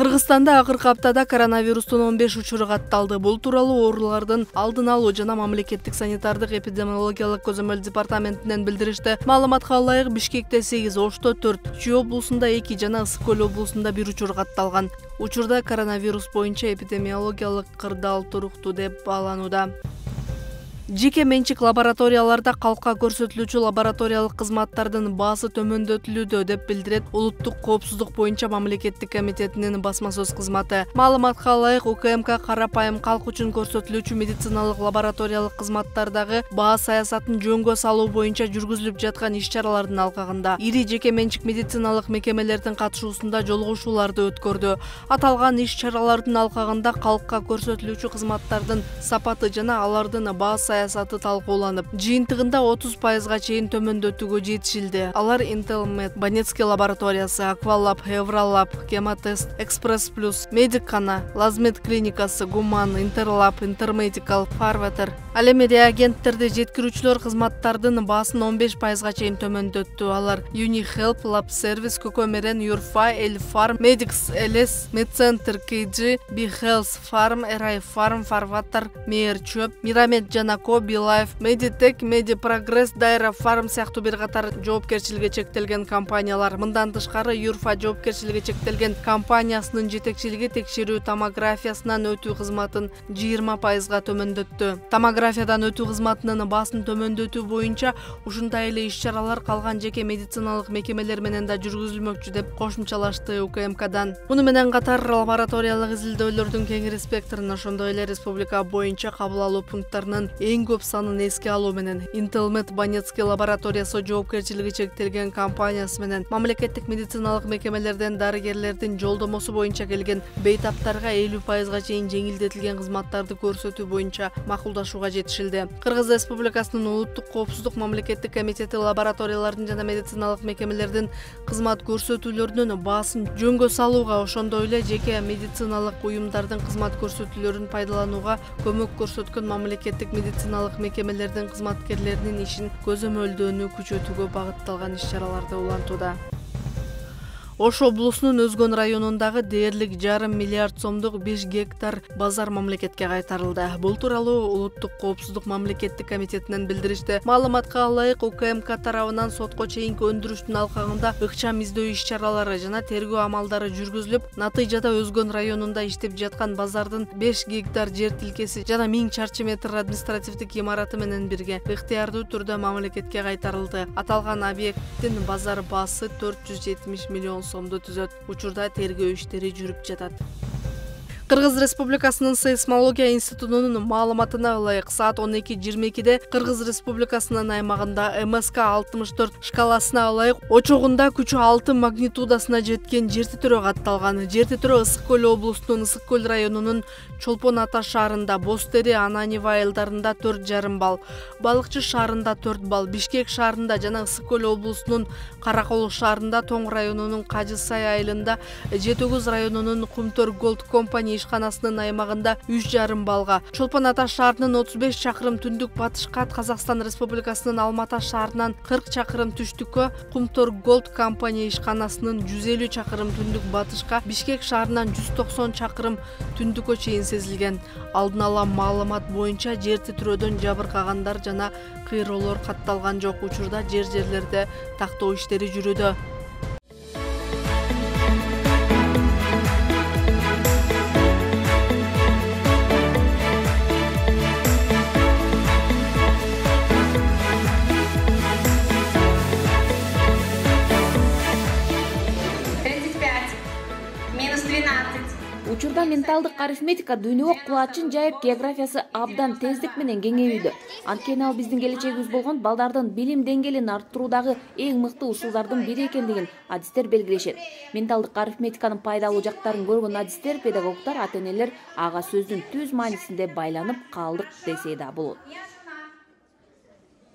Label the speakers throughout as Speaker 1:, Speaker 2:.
Speaker 1: Кыргызстанда акыркы аптада коронавирустун 15 учуру катталды. Бул тууралуу оорулардын алдын алуу жана мамлекеттик санитардык эпидемиологиялык көзөмөл департаментинен билдиришти. Маалыматка ылайык Бишкекте 8, Ошто 4, Чүй облусунда 2 жана Ысык Көл облусунда 1 учур катталган. Учурда коронавирус боюнча эпидемиологиялык кырдаал туруктуу деп бааланууда. Жеке менчик лабораторияларда калкка көрсөтүлүүчү лабораториялык кызматтардын баасы төмөндөтүлүүдө деп билдирет Улуттук коопсуздук боюнча мамлекеттик комитетинин басма сөз кызматы. Маалыматка ылайык УКМК карапайым калк үчүн көрсөтүлүүчү медициналык лабораториялык кызматтардагы баа саясатын жөнгө салуу боюнча жүргүзүлүп жаткан иш-чаралардын алкагында ири жеке менчик медициналык мекемелердин катышуусунда жолугушууларды өткөрдү. Аталган иш-чаралардын алкагында калкка көрсөтүлүүчү кызматтардын сапаты жана алардын баа саясаты талкууланып, жыйынтыгында 30%га чейин төмөндөтүүгө жетишилди. Алар Intelmed, Банецкий лабораториясы, Аквалаб, Евролаб, Гемотест, Экспресс Плюс, Медикана, Лазмед клиникасы, Гуман, Интерлаб, Интермедикал, Фарветер. Ал эми реагенттерди жеткирүүчүлөр кызматтардын баасын 15%га чейин төмөндөттү. Алар Unihелп, Lab Service, Көкөмерен, Юрфа, Эльфарм, Медикс, Элес, Медцентр, KG, Бихелс Фарм, Эрай Фарм, Фарватер, Мейер Чөп, Мирамед Жанако, Билайф, Медитек, Медипрогресс, Дайра Фарм сыяктуу бир катар жоопкерчилиги чектелген компаниялар. Мындан тышкары Юрфа жоопкерчилиги чектелген компаниясынын жетекчилиги текшерүү томографиясынан өтүү кызматын 20%га төмөндөттү. Томографиядан өтүү кызматынын баасын төмөндөтүү боюнча ушундай эле иш-чаралар калган жеке медициналык мекемелер менен да жүргүзүлмөкчү деп кошумчалашты УКМКдан. Муну менен катар лабораториялык изилдөөлөрдүн кеңири спектрин, ошондой эле республика боюнча кабыл алуу пункттарынын эң көп санын эске алуу менен Intelmed Банецкий лабораториясы жоопкерчилиги чектелген компаниясы менен мамлекеттик медициналык мекемелерден дарыгерлердин жолдомосу боюнча келген бейтаптарга 50%га чейин жеңилдетилген кызматтарды көрсөтүү боюнча макулдашууга жетишилди. Кыргыз Республикасынын Улуттук коопсуздук мамлекеттик комитети лабораториялардын жана медициналык мекемелердин кызмат көрсөтүүлөрүнүн баасын жөнгө салууга, ошондой эле жеке медициналык уюмдардын кызмат көрсөтүүлөрүн пайдаланууга көмөк көрсөткөн мамлекеттик медициналык мекемелердин кызматкерлеринин ишин көзөмөлдөөнү күчөтүүгө багытталган иш-чараларды улантууда. Ош облусунун Өзгөн районундагы дээрлик 1,5 миллиард сомдук 5 гектар базар мамлекетке кайтарылды. Бул тууралуу Улуттук коопсуздук мамлекеттик комитетинен билдиришти. Маалыматка ылайык УКМК тарабынан сотко чейинки өндүрүштүн алкагында ыкчам издөө иш-чаралары жана тергөө амалдары жүргүзүлүп, натыйжада Өзгөн районунда иштеп жаткан базардын 5 гектар жер тилкеси жана 1000 чарчы метр административдик имараты менен бирге ыктыярдуу түрдө мамлекетке кайтарылды. Аталган объекттин базар баасы 470 миллион сомду түзөт. Учурда тергөө иштери жүрүп жатат. Кыргыз Республикасынын сейсмология институтунун маалыматына ылайык саат 12:22-де Кыргыз Республикасынын аймагында МСК 64 шкаласына ылайык очогунда күчү 6 магнитудасына жеткен жер титирөө катталган. Жер титирөө Ысык Көл облусунун Ысык Көл районунун Чолпон Ата шаарында, Бостери, Ананева айылдарында 4,5 балл, Балыкчы шаарында 4 балл, Бишкек шаарында жана Ысык Көл облусунун Каракол шаарында, Тоң районунун Кажы Сай айылында, Жетөгүз районунун Кумтөр Голд компания ишканасынын аймагында 3,5 баллга, Чолпон Ата шаарынын 35 чакырым түндүк батышка, Казакстан Республикасынын Алмата шаарынан 40 чакырым түштүккө, Кумтөр Голд компания ишканасынын 150 чакырым түндүк батышка, Бишкек шаарынан 190 чакырым түндүккө чейин сезилген. Алдын ала маалымат боюнча жер титирөөдөн жабыркагандар жана кыйроолор катталган жок. Учурда жерлерде тактоо иштери жүрүүдө.
Speaker 2: Учурда менталдык арифметика дүйнөгө кулачын жайып, географиясы абдан тездик менен кеңейүүдө. Анткени ал биздин келечегибиз болгон балдардын билим деңгээлин арттыруудагы эң мыкты усулдардын бири экендигин адистер белгилешет. Менталдык арифметиканын пайдалуу жактарын көргөн адистер, педагогдор, ата-энелер ага сөздүн түз маанисинде байланып калдык десе да болот.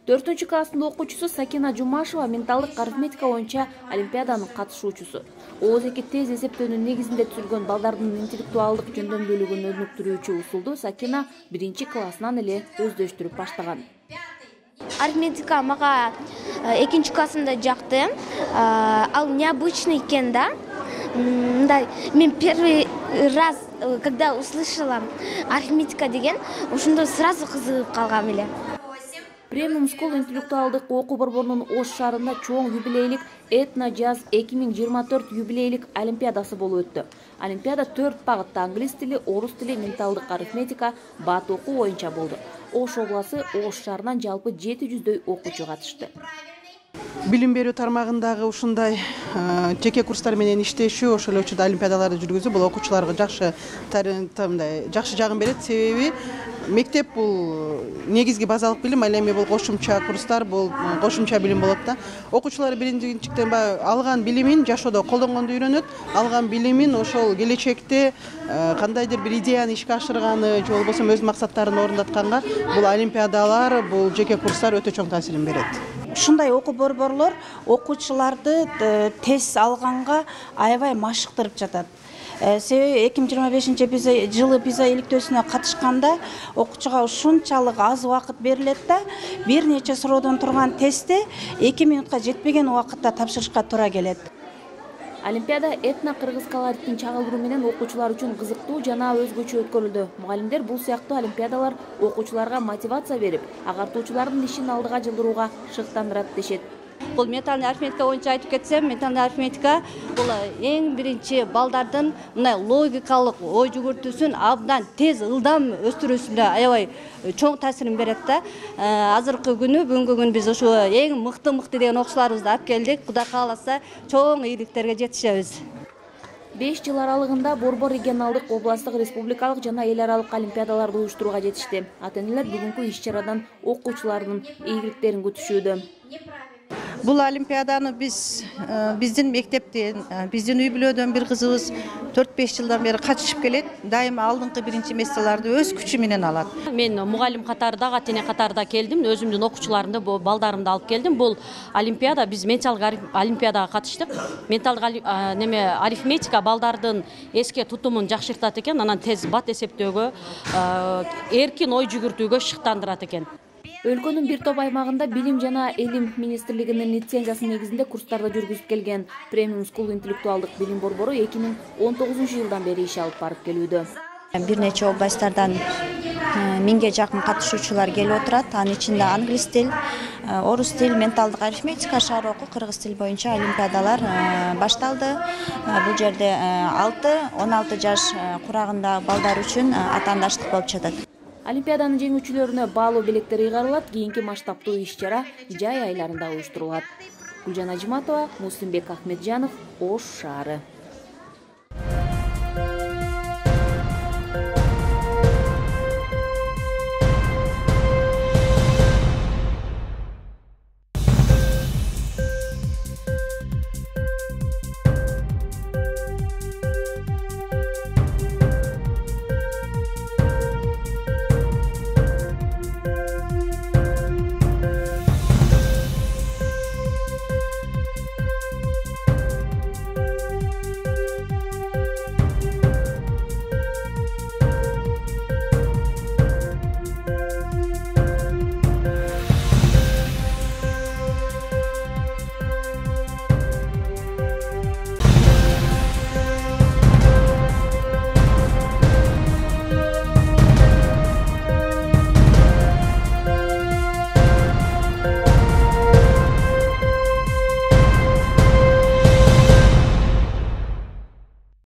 Speaker 2: 4 класстын окуучусу Сакина Жумашева менталдык арифметика боюнча олимпиаданын катышуучусу. ооз-2 тез эсептөөнүн негизинде түзүлгөн балдардын интеллектуалдык жөндөмдүүлүгүн өнүктүрүүчү усулду Сакина 1 классынан эле өздөштүрүп баштаган.
Speaker 3: Арифметика мага 2 классымда жакты. Ал необычный экен да. мындай мен первый раз, когда услышала арифметика деген, ошондо сразу кызыгып калгам эле.
Speaker 2: Премиум School интеллектуалдык окуу борборунун Ош шаарында чоң юбилейлик Этно Jazz 2024 юбилейлик олимпиадасы болуп өттү. Олимпиада 4 багытта англис тили, орус тили, менталдык арифметика, бат окуу боюнча болду. Ош областы Ош шаарынан жалпы 700дөй окуучу катышты.
Speaker 4: Билим берүү тармагындагы ушундай жеке курстар менен иштешүү, ошол эле учурда олимпиадаларды жүргүзүү бул окуучуларга жакшы жагын берет. Себеби мектеп бул негизги базалык билим, ал эми бул кошумча курстар, бул кошумча билим болот да. Окуучулар биринчиден алган билимин жашоодо колдонгонду үйрөнөт, алган билимин ошол келечекте кандайдыр бир идеяны ишке ашырганы же болбосо өз максаттарын орундатканга бул олимпиадалар, бул жеке курстар өтө чоң таасирин берет.
Speaker 5: Ушундай окуу борборлор окуучуларды тез алганга аябай машыктырып жатат. Себеби 2025 жылы PISA иликтөөсүнө катышканда окуучуга ушунчалык аз убакыт берилет да, бир нече суроодон турган тестти 2 минутка жетпеген убакытта тапшырышка туура келет.
Speaker 2: Олимпиада этно кыргыз колоритин чагылдыруу менен окуучулар үчүн кызыктуу жана өзгөчө өткөрүлдү. Мугалимдер бул сыяктуу олимпиадалар окуучуларга мотивация берип, агартуучулардын ишин алдыга жылдырууга шыктандырат дешет.
Speaker 6: Бул менталдык арифметика боюнча айтып кетсем, менталдык арифметика бул эң биринчи балдардын мындай логикалык ой жүгүртүүсүн абдан тез, ылдам өстүрүүсүндө аябай чоң таасирин берет да. Азыркы күнү, бүгүнкү күнү биз ушу эң мыкты деген окуучуларыбызды алып келдик. Кудай кааласа, чоң ийгиликтерге жетишебиз.
Speaker 2: 5 жыл аралыгында борбор регионалдык, областтык, республикалык жана эл аралык олимпиадаларды уюштурууга жетишти. Ата-энелер бүгүнкү иш-чарадан окуучулардын ийгиликтерин күтүшүүдө.
Speaker 7: Бул олимпиаданы биздин мектептен, биздин үй бүлөдөн бир кызыбыз 4-5 жылдан бери катышып келет. Дайыма алдыңкы биринчи месталарды өз күчү менен алат.
Speaker 8: Мен мугалим катарында, ата-эне катарында келдим. Өзүмдүн окуучуларымды, балдарымды алып келдим. Бул олимпиада, биз менталдык олимпиадага катыштык. Менталдык арифметика балдардын эске тутумун жакшыртат экен, анан тез бат эсептөөгө, эркин ой жүгүртүүгө шыктандырат экен.
Speaker 2: Өлкөнүн бир топ аймагында билим жана элим министрлигинин лицензиясы негизинде курстарды жүргүзүп келген Премиум School интеллектуалдык билим борбору 2019 жылдан бери иш алып барып келүүдө.
Speaker 9: Бир нече областтардан 1000ге жакын катышуучулар келип отурат. Анын ичинде англис тил, орус тил, менталдык арифметика, шаар окуу, кыргыз тил боюнча олимпиадалар башталды. Бул жерде 6-16 жаш курагындагы балдар үчүн атаандаштык болуп жатат.
Speaker 2: Олимпиаданын жеңүүчүлөрүнө баалуу белектер ыйгарылат, кийинки масштабтуу иш-чара жай айларында уюштурулат. Гүлжан Ажиматова, Муслимбек Ахмеджанов, Ош шаары.